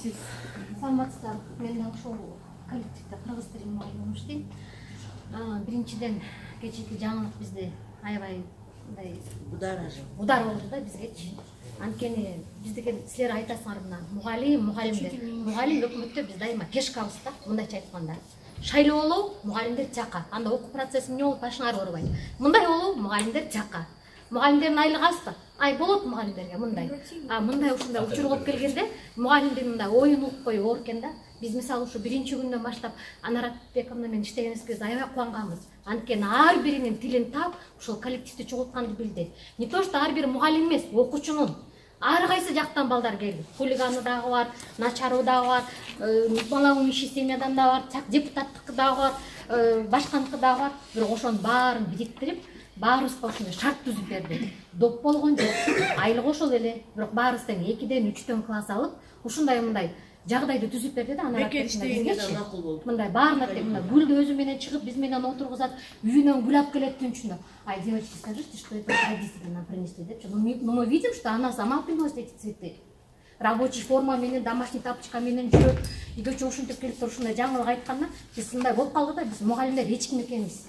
Сиз Саламатсыздар. Мен да ошол коллективде кыргыз тили мугалими иштейм. Биринчиден кечээки жаңылык бизди аябай мындай удар болду да бизгечи. Анткени биздики силер айтасыңар мына мугалимдер. Мугалим өкмөттө биз дайыма пешкабыз да, мындайча айтканда. Шайлоо болобу мугалимдер жакка. Анда окуу процесси эмне болуп башыңар оорубайт. Мындай болобу мугалимдер жакка. Мугалимдердин айлыгы азбы? Ай болот мугалимдерге мындай. Мындай ушундай учур болуп келгенде мугалимдин мындай оюн угуп коюп оор экен да. Биз мисалы ушу биринчи күндөн баштап Анара Бековна менен иштегенибизге аябай кубанганбыз. Анткени ар биринин тилин таап ушул коллективди чогултканды билди. Не то что ар бир мугалим эмес, окуучунун ар кайсы жактан балдар келди. Хулиганы дагы бар, начары дагы бар, балаңын иши семьядан да бар, депутаттыкы дагы бар, башканыкы дагы бар. Бирок ошонун баарын бириктирип, баарыбызга ушундай шарт түзүп берди. Доп болгон жок, айлык ошол эле, бирок баарыбыз тең 2ден 3дөн класс алып, ушундай мындай жагдайды түзүп берди да. Анан мындай баарына тең мындай гүлдү өзү менен чыгып, биз менен отургузат, үйүнөн гүл алып келет түнчүндө. Ай, девочки, скажите, что это родители нам принесли, депчи. Ну мы видим, что она сама приносит эти цветы. Рабочий форма менен, домашний тапочка менен жүрөт. Үйгө ушинтип келип туруп ушундай жаңылык айтканда, биз мындай болуп калды да, биз мугалимдер эч ким экенбиз.